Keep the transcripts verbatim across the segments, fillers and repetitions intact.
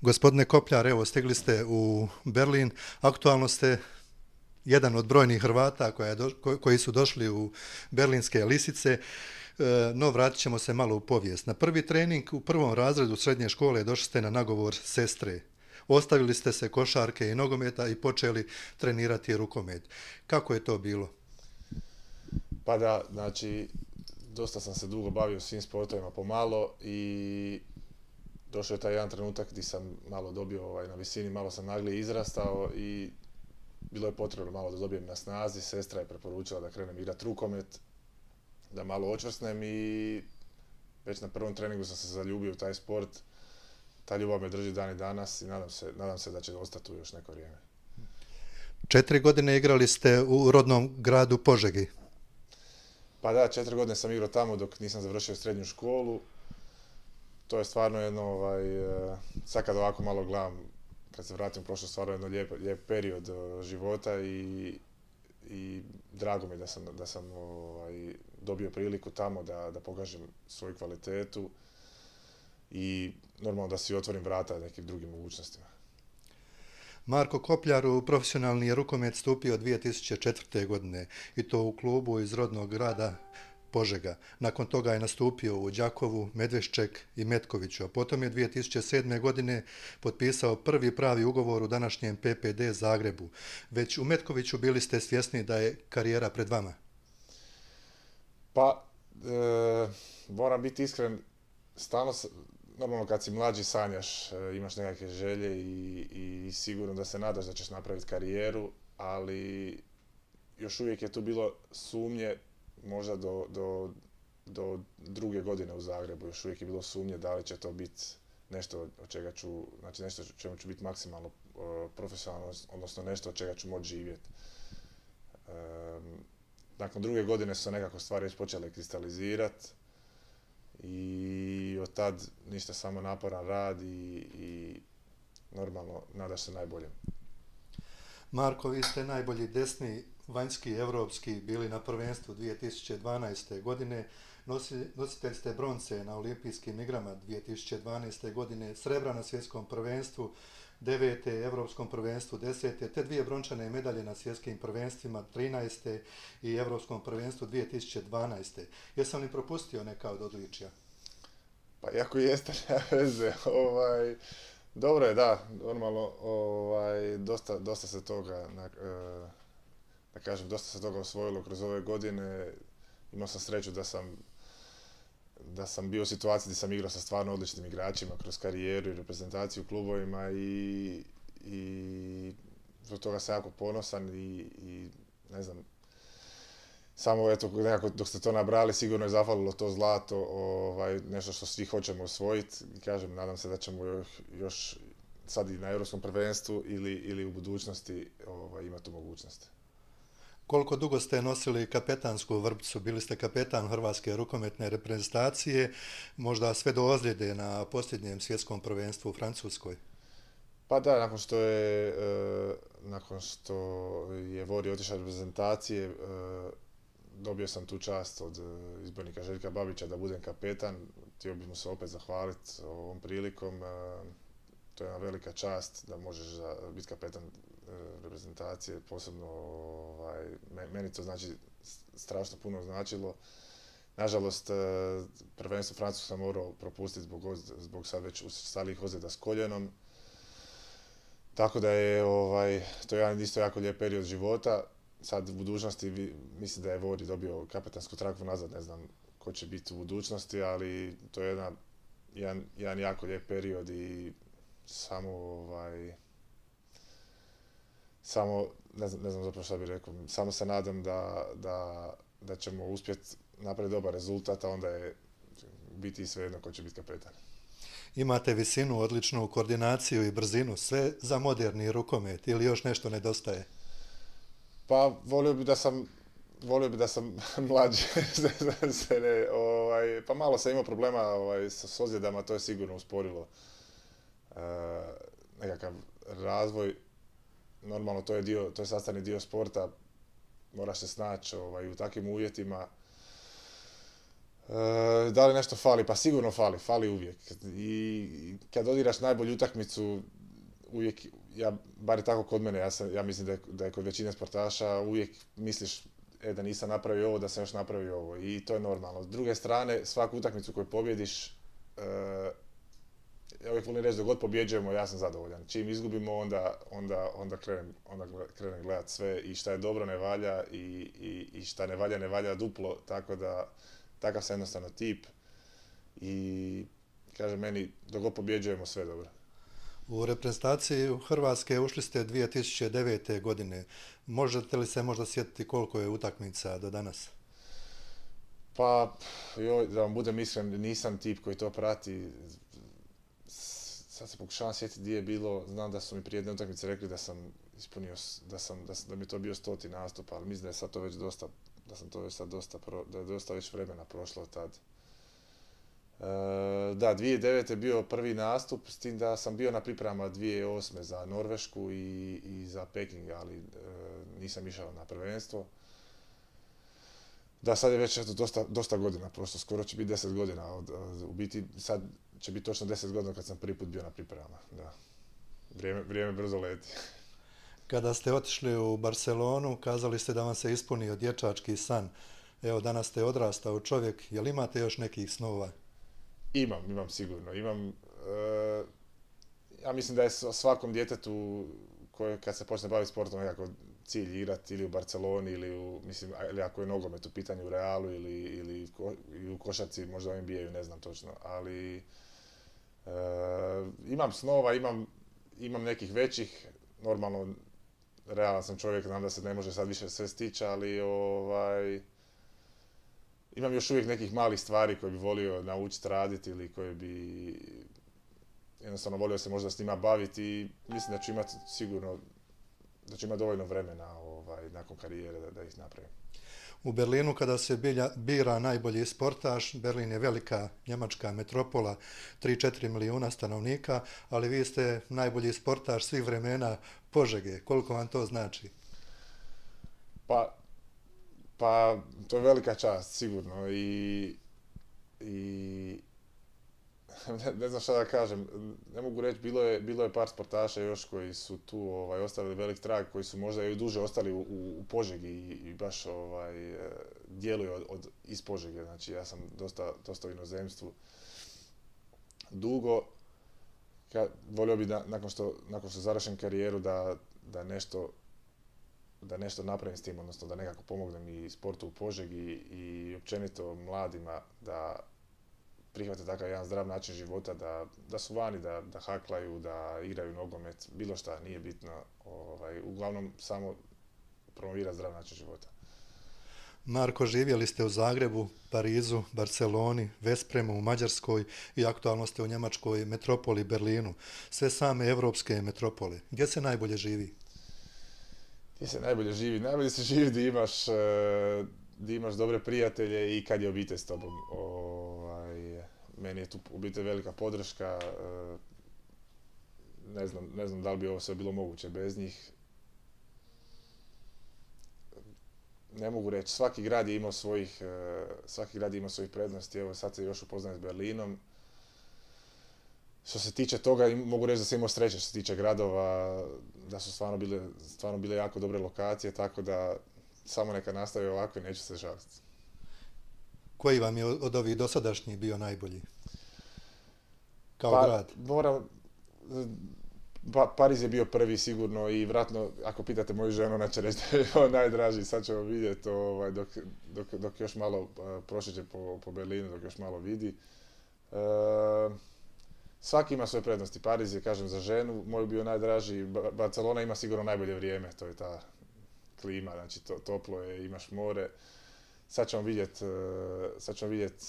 Gospodine Kopljar, evo stigli ste u Berlin, aktualno ste jedan od brojnih Hrvata koja je do, ko- koji su došli u berlinske lisice, e, no vratit ćemo se malo u povijest. Na prvi trening u prvom razredu srednje škole došli ste na nagovor sestre. Ostavili ste se košarke i nogometa i počeli trenirati rukomet. Kako je to bilo? Pa da, znači, dosta sam se dugo bavio svim sportovima pomalo i došao je taj jedan trenutak gdje sam malo dobio ovaj, na visini, malo sam naglije izrastao i bilo je potrebno malo da dobijem na snazi. Sestra je preporučila da krenem igrati rukomet, da malo očvrsnem i već na prvom treningu sam se zaljubio u taj sport. Ta ljubav me drži dan i danas i nadam se, nadam se da će ostati tu još neko vrijeme. Četiri godine igrali ste u rodnom gradu Požegi. Pa da, četiri godine sam igrao tamo dok nisam završio srednju školu. To je stvarno jedno, ovaj, eh, sad kad ovako malo gledam, kad se vratim u prošlost, stvarno jedno lijep, lijep period eh, života i, i drago mi je da sam, da sam ovaj, dobio priliku tamo da, da pokažem svoju kvalitetu i normalno da si otvorim vrata nekim drugim mogućnostima. Marko Kopljar u profesionalni je rukomet stupio dvije tisuće četvrte. godine i to u klubu iz rodnog grada Požega. Nakon toga je nastupio u Đakovu, Medvešček i Metkoviću, a potom je dvije tisuće sedme. godine potpisao prvi pravi ugovor u današnjem P P D Zagrebu. Već u Metkoviću bili ste svjesni da je karijera pred vama. Pa, e, moram biti iskren, stalno, s- normalno kad si mlađi sanjaš, e, imaš nekakve želje i, i sigurno da se nadaš da ćeš napraviti karijeru, ali još uvijek je tu bilo sumnje, možda do, do, do druge godine u Zagrebu, još uvijek je bilo sumnje da li će to biti nešto od čega ću, znači nešto od čemu ću biti maksimalno e, profesionalan, odnosno nešto od čega ću moći živjeti. Em, Nakon druge godine su se nekako stvari već počele kristalizirati i od tad ništa, samo naporan rad i, i normalno nadaš se najboljem. Marko, vi ste najbolji desni vanjski evropski bili na prvenstvu dvije tisuće dvanaeste. godine. Nosi, nositelj ste bronce na olimpijskim igrama dvije tisuće dvanaeste. godine, srebra na svjetskom prvenstvu devete, evropskom prvenstvu desete, te dvije brončane medalje na svjetskim prvenstvima trinaeste i evropskom prvenstvu dvije tisuće dvanaeste. Jesam li propustio neka od odličja? Pa iako jeste, nema veze, ovaj, dobro je, da, normalno, ovaj, dosta, dosta se toga, na, eh, da kažem, dosta se toga osvojilo kroz ove godine. Imao sam sreću da sam, da sam bio u situaciji gdje sam igrao sa stvarno odličnim igračima kroz karijeru i reprezentaciju u klubovima i, i zbog toga sam jako ponosan i, i ne znam, samo eto, nekako dok ste to nabrali, sigurno je zafalilo to zlato, ovaj, nešto što svi hoćemo osvojiti. I kažem, nadam se da ćemo još, još sad i na Europskom prvenstvu ili, ili u budućnosti ovaj, imati tu mogućnost. Koliko dugo ste nosili kapetansku vrpcu? Bili ste kapetan Hrvatske rukometne reprezentacije, možda sve do ozljede na posljednjem svjetskom prvenstvu u Francuskoj. Pa da, nakon što je, e, nakon što je Vori otišao iz reprezentacije, e, dobio sam tu čast od e, izbornika Željka Babića da budem kapetan. Htio bih mu se opet zahvaliti ovom prilikom. E, to je jedna velika čast da možeš za- biti kapetan e, reprezentacije, posebno ovaj, me- meni to znači s- strašno puno značilo. Nažalost, e, prvenstvo Francusku sam morao propustiti zbog, oz- zbog sad već ustalih ozljeda s koljenom. Tako da je ovaj, to je jedan isto jako lijep period života. Sad u budućnosti vi- mislim da je Vori dobio kapetansku traku nazad, ne znam ko će biti u budućnosti, ali to je jedna, jedan, jedan jako lijep period i samo ovaj, samo, ne znam, ne znam zapravo šta bih rekao, samo se nadam da, da, da ćemo uspjeti napraviti dobar rezultat, a onda je biti svejedno ko će biti kapetan. Imate visinu, odličnu koordinaciju i brzinu, sve za moderni rukomet ili još nešto nedostaje? Pa volio bi da sam volio bi da sam mlađi, da se ne, ovaj, pa malo sam imao problema ovaj, sa s ozljedama, to je sigurno usporilo e, nekakav razvoj. Normalno to je dio, to je sastavni dio sporta, moraš se snaći ovaj, u takvim uvjetima. E, da li nešto fali? Pa sigurno fali, fali uvijek. I kad odigraš najbolju utakmicu, uvijek, ja, bar je tako kod mene, ja, sam, ja mislim da je, da je kod većine sportaša, uvijek misliš e, da nisam napravio ovo, da sam još napravio ovo. I to je normalno. S druge strane, svaku utakmicu koju pobjediš, e, ja uvijek volim reći da god pobjeđujemo, ja sam zadovoljan. Čim izgubimo, onda, onda, onda, krenem, onda krenem gledat sve i šta je dobro ne valja i, i, i šta ne valja ne valja duplo, tako da takav sam jednostavno tip i kaže meni dok god pobjeđujemo sve dobro. U reprezentaciji Hrvatske ušli ste dvije tisuće devete. godine. Možete li se možda sjetiti koliko je utakmica do danas? Pa, joj, da vam budem iskren, nisam tip koji to prati. Sad se pokušavam sjetiti gdje je bilo, znam da su mi prije jedne utakmice rekli da sam ispunio, da, sam, da, sam, da mi je to bio stoti nastup, ali mislim da je sad to već dosta, da sam to već sad dosta, da je dosta već vremena prošlo tad. E, da, dvije tisuće devete. je bio prvi nastup, s tim da sam bio na pripremama dvije tisuće osme. za Norvešku i, i za Peking, ali e, nisam išao na prvenstvo. Da, sad je već eto, dosta, dosta godina prošlo, skoro će biti deset godina. Od, od, u biti sad će biti točno deset godina kad sam prvi put bio na pripremama. Da. Vrijeme, vrijeme brzo leti. Kada ste otišli u Barcelonu, kazali ste da vam se ispunio dječački san. Evo, danas ste odrastao čovjek, jel imate još nekih snova? Imam, imam sigurno. Imam, e, ja mislim da je svakom djetetu koje kad se počne baviti sportom nekako cilj igrati ili u Barceloni ili, u, mislim, ili ako je nogomet u pitanju u Realu ili, ili, ko, ili u košarci, možda u N B A-u, ne znam točno. Ali e, imam snova, imam, imam nekih većih, normalno realan sam čovjek, znam da se ne može sad više sve stići, ali ovaj, imam još uvijek nekih malih stvari koje bi volio naučiti raditi ili koje bi jednostavno volio se možda s njima baviti i mislim da ću imati sigurno, da ću imati dovoljno vremena ovaj, nakon karijere da, da ih napravim. U Berlinu kada se bilja, bira najbolji sportaš, Berlin je velika njemačka metropola, tri do četiri milijuna stanovnika, ali vi ste najbolji sportaš svih vremena Požege. Koliko vam to znači? Pa, pa to je velika čast, sigurno. I, i ne, ne znam šta da kažem. Ne mogu reći, bilo je, bilo je par sportaša još koji su tu ovaj, ostavili velik trag, koji su možda i duže ostali u, u, u Požegi i, i baš ovaj, djeluju od, od, iz Požege. Znači ja sam dosta, dosta u inozemstvu dugo. Ka, volio bi da nakon što, nakon što završim karijeru da, da nešto da nešto napravim s tim, odnosno da nekako pomognem i sportu u Požegi i općenito mladima da prihvate takav jedan zdrav način života, da, da su vani, da, da haklaju, da igraju nogomet, bilo šta, nije bitno. Ovaj, uglavnom samo promovira zdrav način života. Marko, živjeli ste u Zagrebu, Parizu, Barceloni, Vespremu, u Mađarskoj i aktualno ste u njemačkoj metropoli Berlinu. Sve same evropske metropole. Gdje se najbolje živi? Gdje se najbolje živi? Najbolje se živi gdje imaš, gdje imaš dobre prijatelje i kad je obitelj s tobom. Ovaj, meni je tu obitelj velika podrška. Ne znam, ne znam da li bi ovo sve bilo moguće bez njih. Ne mogu reći, svaki grad je imao svojih, svaki grad je imao svojih prednosti, evo sad se još upoznajem s Berlinom. Što se tiče toga, mogu reći da sam imao sreće što se tiče gradova, da su stvarno bile, stvarno bile jako dobre lokacije, tako da samo neka nastavi ovako i neću se žaliti. Koji vam je od ovih dosadašnjih bio najbolji? Kao pa, grad? Moram, Pa, Pariz je bio prvi sigurno i vratno, ako pitate moju ženu, ona će reći da je on najdraži, sad ćemo vidjeti ovaj, dok, dok, dok još malo uh, prošeće po, po Berlinu, dok još malo vidi. Uh, svaki ima svoje prednosti. Pariz je, kažem, za ženu, moj bio najdraži. Barcelona ima sigurno najbolje vrijeme, to je ta klima, znači to, toplo je, imaš more. Sad ćemo vidjeti, uh, sad ćemo vidjeti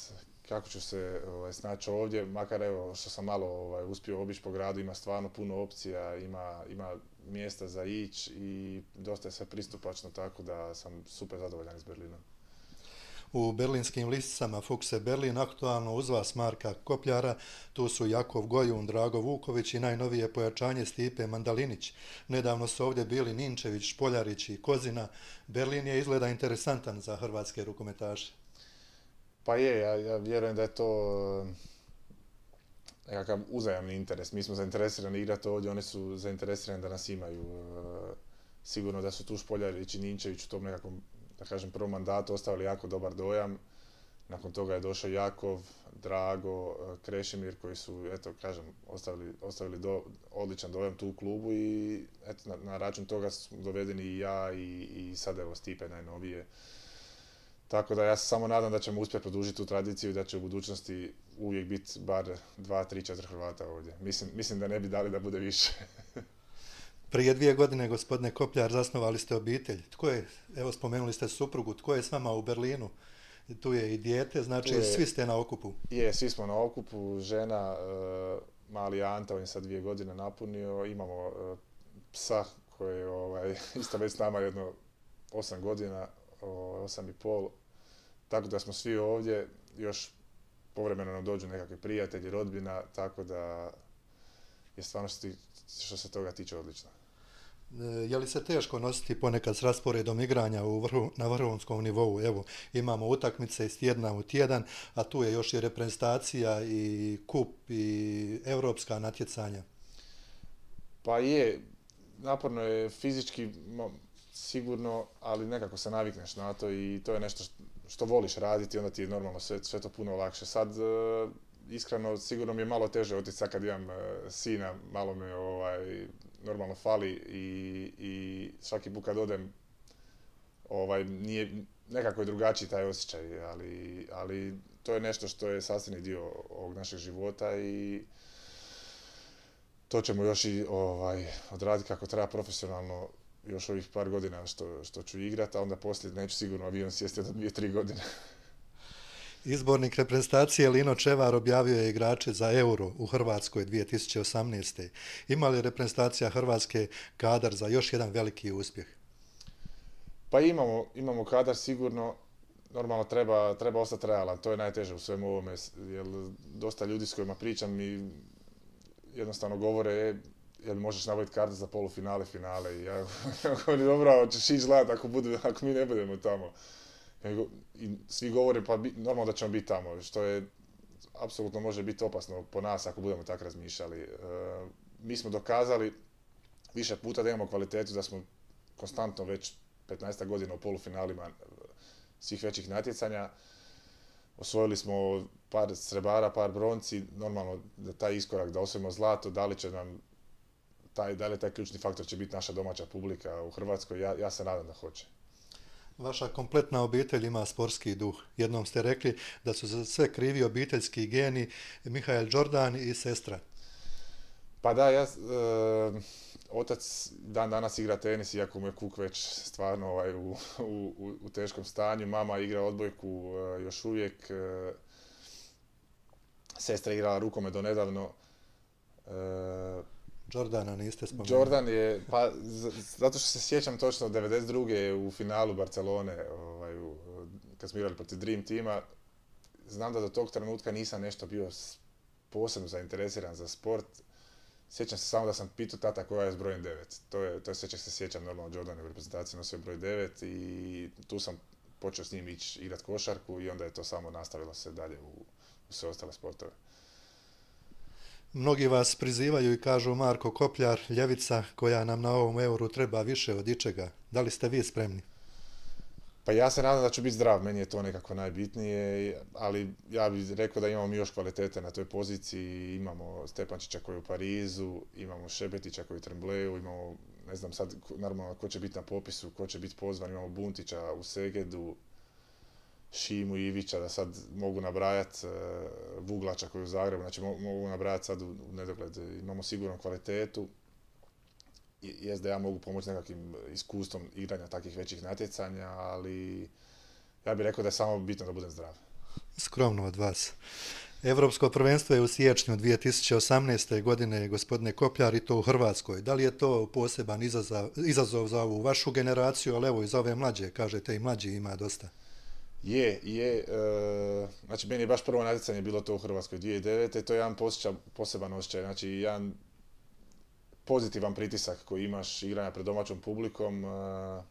kako ću se ovaj, snaći ovdje, makar evo što sam malo ovaj, uspio obići po gradu, ima stvarno puno opcija, ima, ima mjesta za ići i dosta je sve pristupačno, tako da sam super zadovoljan iz Berlina. U berlinskim listicama Fuchse Berlin, aktualno uz vas Marka Kopljara, tu su Jakov Gojun, Drago Vuković i najnovije pojačanje Stipe Mandalinić. Nedavno su ovdje bili Ninčević, Špoljarić i Kozina. Berlin je izgleda interesantan za hrvatske rukometaše. Pa je, ja, ja vjerujem da je to e, nekakav uzajamni interes. Mi smo zainteresirani igrati ovdje, oni su zainteresirani da nas imaju. E, sigurno da su tu Špoljarić i Ninčević u tom nekakvom, da kažem, prvom mandatu ostavili jako dobar dojam. Nakon toga je došao Jakov, Drago, e, Krešimir koji su, eto, kažem, ostavili, ostavili do, odličan dojam tu u klubu i eto, na, na račun toga su dovedeni i ja i, i sad evo Stipe najnovije. Tako da ja se samo nadam da ćemo uspjeti produžiti tu tradiciju i da će u budućnosti uvijek biti bar dva, tri, četiri Hrvata ovdje. Mislim, mislim da ne bi dali da bude više. Prije dvije godine, gospodine Kopljar, zasnovali ste obitelj. Tko je, evo spomenuli ste suprugu, tko je s vama u Berlinu? Tu je i dijete, znači je, svi ste na okupu. Je, svi smo na okupu, žena, e, mali Anta, on je sad dvije godine napunio, imamo e, psa koji je ovaj, isto već s nama jedno osam godina, osam i pol. Tako da smo svi ovdje, još povremeno nam dođu nekakvi prijatelji, rodbina, tako da je stvarno što se toga tiče odlično. Je li se teško nositi ponekad s rasporedom igranja u vrhu, na vrhunskom nivou? Evo, imamo utakmice iz tjedna u tjedan, a tu je još i reprezentacija i kup i europska natjecanja. Pa je, naporno je fizički sigurno, ali nekako se navikneš na to i to je nešto što voliš raditi, onda ti je normalno sve, sve to puno lakše. Sad, iskreno, sigurno mi je malo teže otići sad kad imam sina, malo me ovaj, normalno fali i, i svaki put kad odem, ovaj, nije, nekako je drugačiji taj osjećaj, ali, ali to je nešto što je sastavni dio ovog našeg života i to ćemo još i ovaj, odraditi kako treba profesionalno još ovih par godina što, što ću igrati, a onda poslije neću sigurno avion sjesti do dvije, tri godine. Izbornik reprezentacije Lino Čevar objavio je igrače za Euro u Hrvatskoj dvije tisuće osamnaeste. Ima li reprezentacija Hrvatske kadar za još jedan veliki uspjeh? Pa imamo, imamo kadar sigurno, normalno treba, treba ostati realan, to je najteže u svemu ovome, jer dosta ljudi s kojima pričam mi jednostavno govore e, jel možeš nabaviti karte za polufinale, finale i ja govorim dobro, ćeš ići gledati ako, ako mi ne budemo tamo. I svi govore pa bi, normalno da ćemo biti tamo, što je apsolutno može biti opasno po nas ako budemo tako razmišljali. E, mi smo dokazali više puta da imamo kvalitetu, da smo konstantno već petnaest godina u polufinalima svih većih natjecanja. Osvojili smo par srebara, par bronci, normalno da taj iskorak da osvojimo zlato, da li će nam taj, da li taj ključni faktor će biti naša domaća publika u Hrvatskoj, ja, ja se nadam da hoće. Vaša kompletna obitelj ima sportski duh. Jednom ste rekli da su za sve krivi obiteljski geni Mihael Jordan i sestra. Pa da, ja, e, otac dan danas igra tenis, iako mu je kuk već stvarno ovaj, u, u, u teškom stanju. Mama igra odbojku e, još uvijek. E, sestra igrala rukomet do nedavno. E, Jordana niste spomenuli. Jordan je, pa zato što se sjećam točno devedeset druge u finalu Barcelone, ovaj, u, kad smo igrali protiv Dream Teama, znam da do tog trenutka nisam nešto bio posebno zainteresiran za sport. Sjećam se samo da sam pitao tata koja je s brojem devet. To je, to je sve čeg se sjećam, normalno Jordan u reprezentaciji nosio broj devet i tu sam počeo s njim ići igrati košarku i onda je to samo nastavilo se dalje u, u sve ostale sportove. Mnogi vas prizivaju i kažu Marko Kopljar, ljevica koja nam na ovom euru treba više od ičega. Da li ste vi spremni? Pa ja se nadam da ću biti zdrav, meni je to nekako najbitnije, ali ja bih rekao da imamo mi još kvalitete na toj poziciji. Imamo Stepančića koji je u Parizu, imamo Šebetića koji je u Trembleju, imamo, ne znam sad, normalno ko će biti na popisu, ko će biti pozvan, imamo Buntića u Segedu, Šimu i Ivića, da sad mogu nabrajati, Vuglača koji je u Zagrebu, znači mogu nabrajati sad u nedogled. Imamo sigurno kvalitetu. Jest da ja mogu pomoći nekakvim iskustvom igranja takvih većih natjecanja, ali ja bih rekao da je samo bitno da budem zdrav. Skromno od vas. Europsko prvenstvo je u siječnju dvije tisuće osamnaeste. godine, gospodine Kopljar, i to u Hrvatskoj. Da li je to poseban izazov, izazov za ovu vašu generaciju, ali evo i za ove mlađe, kažete i mlađi ima dosta? Je, je. E, znači, meni je baš prvo natjecanje bilo to u Hrvatskoj dvije tisuće devete. To je jedan posjeća, poseban osjećaj. Znači, jedan pozitivan pritisak koji imaš igranja pred domaćom publikom. E,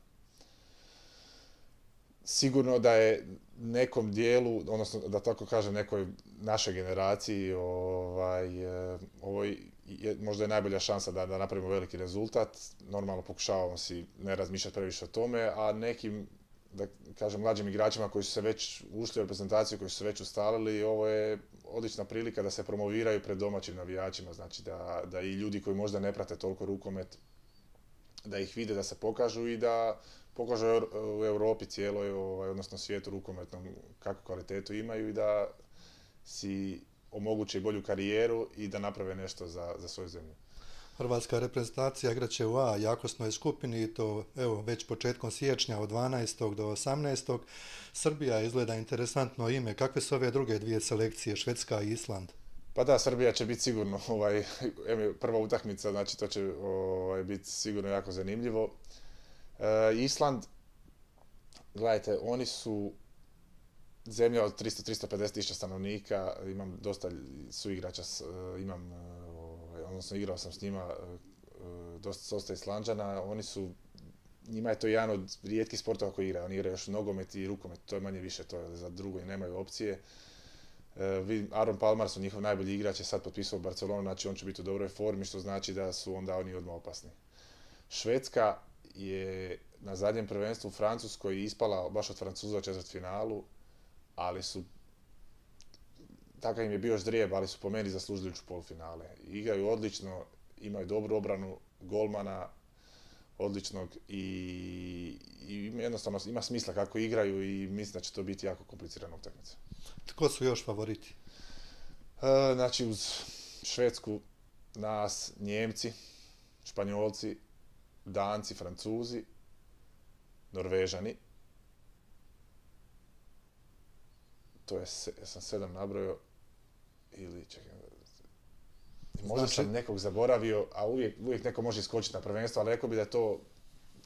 sigurno da je nekom dijelu, odnosno da tako kažem nekoj našoj generaciji, ovaj, e, ovo je, možda je najbolja šansa da, da napravimo veliki rezultat. Normalno pokušavamo si ne razmišljati previše o tome, a nekim, da kažem, mlađim igračima koji su se već ušli u reprezentaciju, koji su se već ustalili, ovo je odlična prilika da se promoviraju pred domaćim navijačima, znači da, da i ljudi koji možda ne prate toliko rukomet, da ih vide, da se pokažu i da pokažu u Europi cijeloj, ovaj, odnosno svijetu rukometnom kakvu kvalitetu imaju i da si omoguće i bolju karijeru i da naprave nešto za, za svoju zemlju. Hrvatska reprezentacija igraće u A jakosnoj skupini i to evo, već početkom siječnja od dvanaestog do osamnaestog Srbija izgleda interesantno ime. Kakve su ove druge dvije selekcije, Švedska i Island? Pa da, Srbija će biti sigurno ovaj, prva utakmica, znači to će ovaj, biti sigurno jako zanimljivo. E, Island, gledajte, oni su zemlja od tristo do tristo pedeset tisuća stanovnika, imam dosta suigrača, imam, ovaj, odnosno igrao sam s njima dosta, dosta Islanđana, oni su, njima je to jedan od rijetkih sportova koji igraju, oni igraju još nogomet i rukomet, to je manje više, to je za drugo i nemaju opcije. Aaron Palmer su njihov najbolji igrač, je sad potpisao Barcelonu, znači on će biti u dobroj formi, što znači da su onda oni odmah opasni. Švedska je na zadnjem prvenstvu u Francuskoj ispala baš od Francuza u četvrtfinalu, ali su, takav im je bio ždrijeb, ali su po meni zaslužili ući u polufinale. Igraju odlično, imaju dobru obranu, golmana odličnog i, i jednostavno ima smisla kako igraju i mislim da će to biti jako komplicirana utakmica. Tko su još favoriti? E, znači uz Švedsku, nas, Njemci, Španjolci, Danci, Francuzi, Norvežani. To je, ja sam sedam nabrojao, ili čekaj, možda znači, sam nekog zaboravio, a uvijek, uvijek neko može iskočiti na prvenstvo, ali rekao bi da je to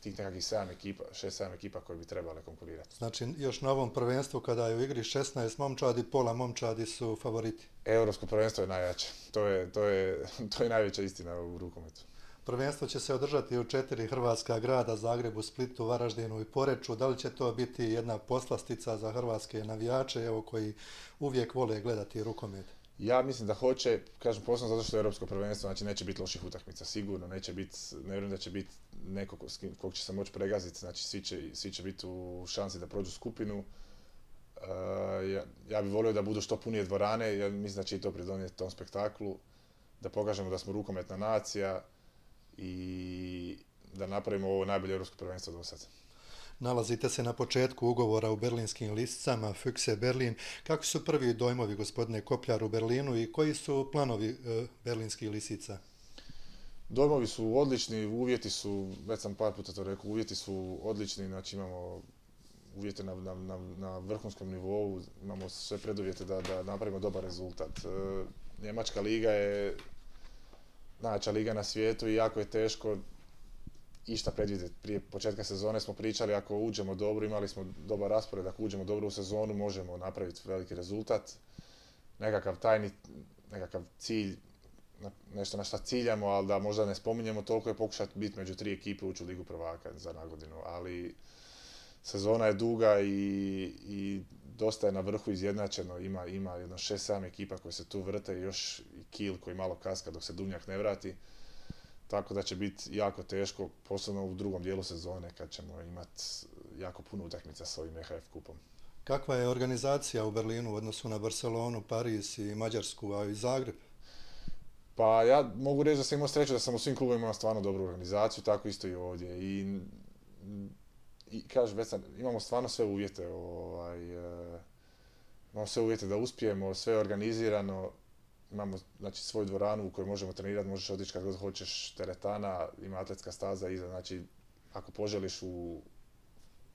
tih nekakvih sedam ekipa, šest sedam ekipa koje bi trebale konkurirati. Znači još na ovom prvenstvu kada je u igri šesnaest momčadi, pola momčadi su favoriti. Europsko prvenstvo je najjače, to je, to je, to je najveća istina u rukometu. Prvenstvo će se održati u četiri hrvatska grada, Zagrebu, Splitu, Varaždinu i Poreču. Da li će to biti jedna poslastica za hrvatske navijače, evo, koji uvijek vole gledati rukomet? Ja mislim da hoće, kažem posebno zato što je Europsko prvenstvo, znači neće biti loših utakmica, sigurno, neće biti, ne vjerujem da će biti neko kog će se moći pregaziti, znači svi će, svi će biti u šansi da prođu skupinu. Uh, ja, ja bih volio da budu što punije dvorane, ja mislim da će i to pridonijeti tom spektaklu, da pokažemo da smo rukometna nacija i da napravimo ovo najbolje europsko prvenstvo do sada. Nalazite se na početku ugovora u berlinskim lisicama Füchse Berlin. Kako su prvi dojmovi, gospodine Kopljar, u Berlinu i koji su planovi e, berlinskih lisica? Dojmovi su odlični, uvjeti su, već sam par puta to rekao, uvjeti su odlični, znači imamo uvjete na, na, na, na vrhunskom nivou, imamo sve preduvjete da, da napravimo dobar rezultat. E, Njemačka liga je najjača liga na svijetu i jako je teško išta predvidjeti. Prije početka sezone smo pričali, ako uđemo dobro, imali smo dobar raspored, ako uđemo dobro u sezonu, možemo napraviti veliki rezultat. Nekakav tajni, nekakav cilj, nešto na šta ciljamo, ali da možda ne spominjemo toliko, je pokušati biti među tri ekipe ući u Ligu prvaka za nagodinu. Ali sezona je duga i, i dosta je na vrhu izjednačeno, ima, ima jedno šest sedam ekipa koje se tu vrte, još i Kiel koji malo kaska dok se Duvnjak ne vrati. Tako da će biti jako teško, posebno u drugom dijelu sezone kad ćemo imati jako puno utakmica s ovim E H F kupom. Kakva je organizacija u Berlinu u odnosu na Barcelonu, Pariz i Mađarsku, a i Zagreb? Pa ja mogu reći da sam imao sreću da sam u svim klubovima imao stvarno dobru organizaciju, tako isto i ovdje. I, i kažem, već sam, imamo stvarno sve uvjete, ovaj, e, imamo sve uvjete da uspijemo, sve je organizirano. Imamo znači, svoju dvoranu u kojoj možemo trenirati, možeš otići kad god hoćeš, teretana, ima atletska staza iza, znači ako poželiš u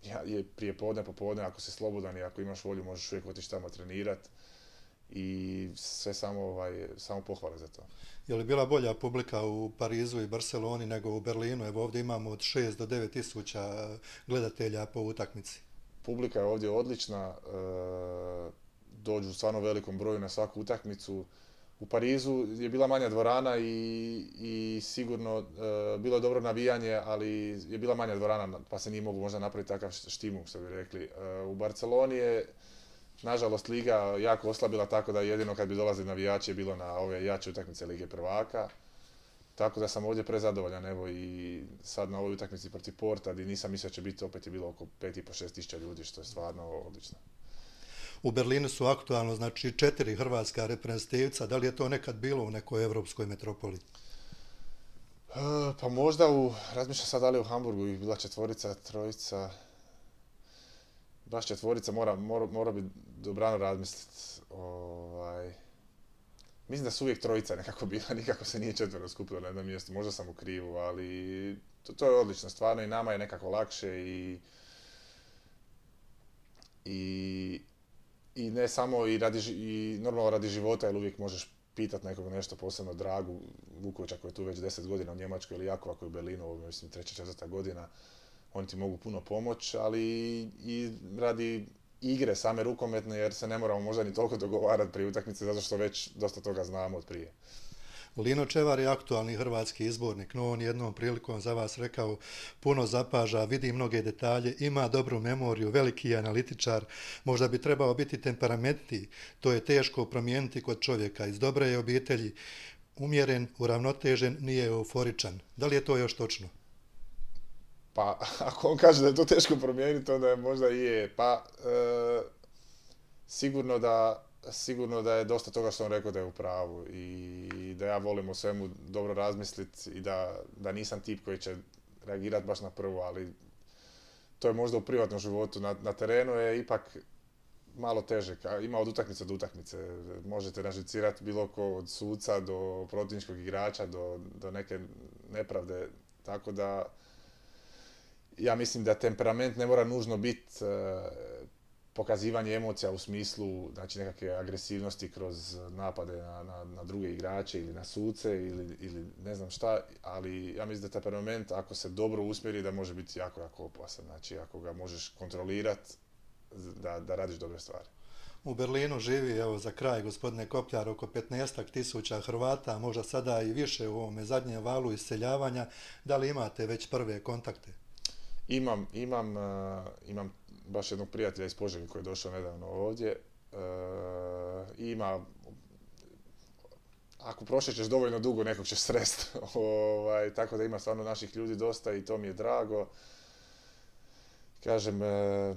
ja, je prije podne, popodne, ako si slobodan i ako imaš volju možeš uvijek otići tamo trenirati i sve samo, ovaj, samo pohvale za to. Je li bila bolja publika u Parizu i Barceloni nego u Berlinu? Evo ovdje imamo od šest do devet tisuća gledatelja po utakmici. Publika je ovdje odlična, e, dođu u stvarno velikom broju na svaku utakmicu. U Parizu je bila manja dvorana i, i sigurno e, bilo je dobro navijanje, ali je bila manja dvorana pa se nije mogu možda napraviti takav štimu, što bi rekli. E, u Barceloni je, nažalost, liga jako oslabila, tako da jedino kad bi dolazili navijači je bilo na ove jače utakmice Lige prvaka. Tako da sam ovdje prezadovoljan, evo i sad na ovoj utakmici protiv Porta, gdje nisam mislio će biti, opet je bilo oko pet i po šest tisuća ljudi, što je stvarno odlično. U Berlinu su aktualno, znači, četiri hrvatska reprezentativca. Da li je to nekad bilo u nekoj evropskoj metropoli? E, pa možda u, razmišljam sad da li u Hamburgu ih bila četvorica, trojica, baš četvorica, mora, mora, mora bi dobrano razmisliti. Ovaj, mislim da su uvijek trojica nekako bila, nikako se nije četvero skupilo na jednom mjestu, možda sam u krivu, ali to, to je odlično, stvarno i nama je nekako lakše i i I ne samo i, radi, i normalno radi života, jer uvijek možeš pitati nekog nešto, posebno Dragu Vukovića koji je tu već deset godina u Njemačkoj, ili Jakova koji je u Berlinu, ovo mislim treća, četvrta godina, oni ti mogu puno pomoći, ali i radi igre same rukometne, jer se ne moramo možda ni toliko dogovarati prije utakmice, zato što već dosta toga znamo od prije. Lino Čevar je aktualni hrvatski izbornik, no on jednom prilikom za vas rekao puno zapaža, vidi mnoge detalje, ima dobru memoriju, veliki je analitičar, možda bi trebao biti temperamentniji, to je teško promijeniti kod čovjeka, iz dobre je obitelji, umjeren, uravnotežen, nije euforičan. Da li je to još točno? Pa, ako on kaže da je to teško promijeniti, onda je možda i je. Pa, e, sigurno da Sigurno da je dosta toga što on rekao da je u pravu i da ja volim o svemu dobro razmisliti i da, da nisam tip koji će reagirati baš na prvo, ali to je možda u privatnom životu. Na, na terenu je ipak malo teže, ima od utakmice do utakmice. Možete nažicirati bilo ko od suca do protivničkog igrača do, do neke nepravde, tako da ja mislim da temperament ne mora nužno biti pokazivanje emocija u smislu, znači, nekakve agresivnosti kroz napade na, na, na druge igrače ili na suce ili, ili ne znam šta, ali ja mislim da temperament, ako se dobro usmjeri, da može biti jako, jako opasan. Znači, ako ga možeš kontrolirati, da, da radiš dobre stvari. U Berlinu živi, evo za kraj, gospodine Kopljar, oko petnaestak tisuća Hrvata, možda sada i više u ovome zadnjem valu iseljavanja. Da li imate već prve kontakte? Imam, imam, uh, imam baš jednog prijatelja iz Požege koji je došao nedavno ovdje. E, ima, ako prošećeš dovoljno dugo, nekog ćeš sresti. ovaj, tako da ima stvarno naših ljudi dosta i to mi je drago. Kažem, e,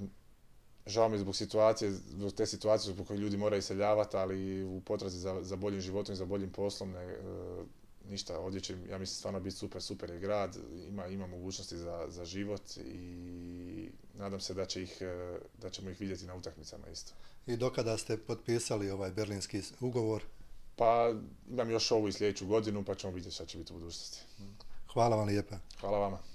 žao mi je zbog situacije, zbog te situacije zbog koje ljudi moraju iseljavati, ali u potrazi za, za boljim životom i za boljim poslom, ne, e, ništa, ovdje će, ja mislim, stvarno biti super, super je grad, ima, ima mogućnosti za, za život i nadam se da, će ih, da ćemo ih vidjeti na utakmicama isto. I dokada ste potpisali ovaj berlinski ugovor? Pa imam još ovu i sljedeću godinu, pa ćemo vidjeti šta će biti u budućnosti. Hvala vam lijepa. Hvala vama.